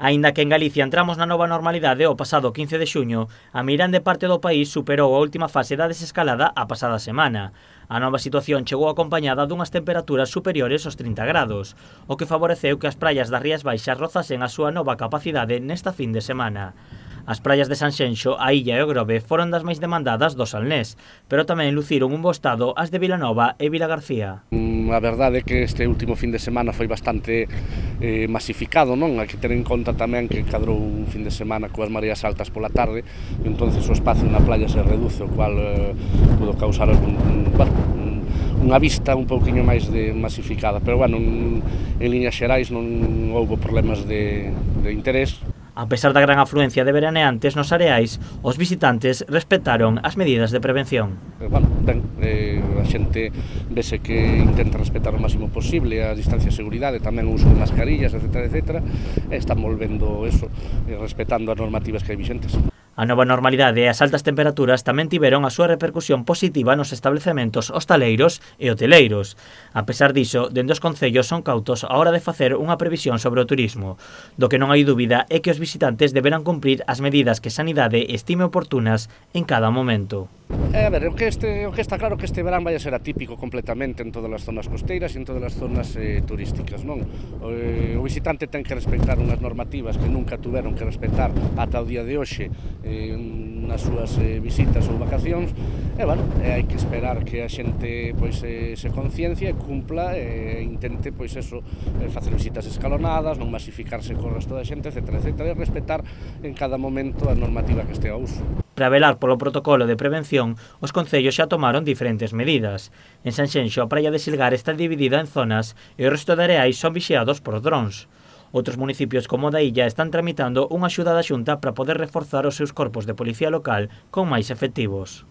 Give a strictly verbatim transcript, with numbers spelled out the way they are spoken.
Aínda que en Galicia entramos na nova normalidade o pasado quince de xuño, a meirande parte do país superou a última fase da desescalada a pasada semana. A nova situación chegou acompañada dunhas temperaturas superiores aos trinta grados, o que favoreceu que as praias das Rías Baixas rozasen a súa nova capacidade nesta fin de semana. As praias de Sanxenxo, a Illa e o Grove foron das máis demandadas do Salnés, pero tamén luciron un bo estado as de Vilanova e Vilagarcía. A verdade é que este último fin de semana foi bastante eh, masificado, non? Hai que ter en conta tamén que cadrou un fin de semana coas mareas altas pola tarde, e entonces o espacio na playa se reduce, o cual eh, pudo causar un, un, bueno, unha vista un pouquiño máis de masificada, pero bueno, en, en líneas xerais non houbo problemas de, de interés. A pesar da gran afluencia de veraneantes nos areais, os visitantes respetaron as medidas de prevención. Bueno, ben, eh, a xente vese que intenta respetar o máximo posible a distancia de seguridade, tamén o uso de mascarillas, etcétera, etcétera, e están volvendo eso, eh, respetando as normativas que hai vixentes. A nova normalidade e as altas temperaturas tamén tiveron a súa repercusión positiva nos establecementos hostaleiros e hoteleiros. A pesar diso, dende os concellos son cautos a hora de facer unha previsión sobre o turismo. Do que non hai dúbida é que os visitantes deberán cumprir as medidas que Sanidade estime oportunas en cada momento. Eh, a ver, o que, este, o que está claro que este verán vai a ser atípico completamente en todas as zonas costeiras e en todas as zonas eh, turísticas, non? O, eh, o visitante ten que respectar unhas normativas que nunca tuveron que respectar ata o día de hoxe eh, nas súas eh, visitas ou vacacións, e, bueno, eh, hai que esperar que a xente pois, eh, se conciencia e cumpla e eh, intente, pois, eso, eh, facer visitas escalonadas, non masificarse co resto da xente, etcétera, etcétera, e respetar en cada momento a normativa que este ao uso. Para velar polo protocolo de prevención, os concellos xa tomaron diferentes medidas. En Sanxenxo, a praia de Silgar está dividida en zonas e o resto de areais son vixiados por drons. Outros municipios como o da Illa están tramitando unha axuda da Xunta para poder reforzar os seus corpos de policía local con máis efectivos.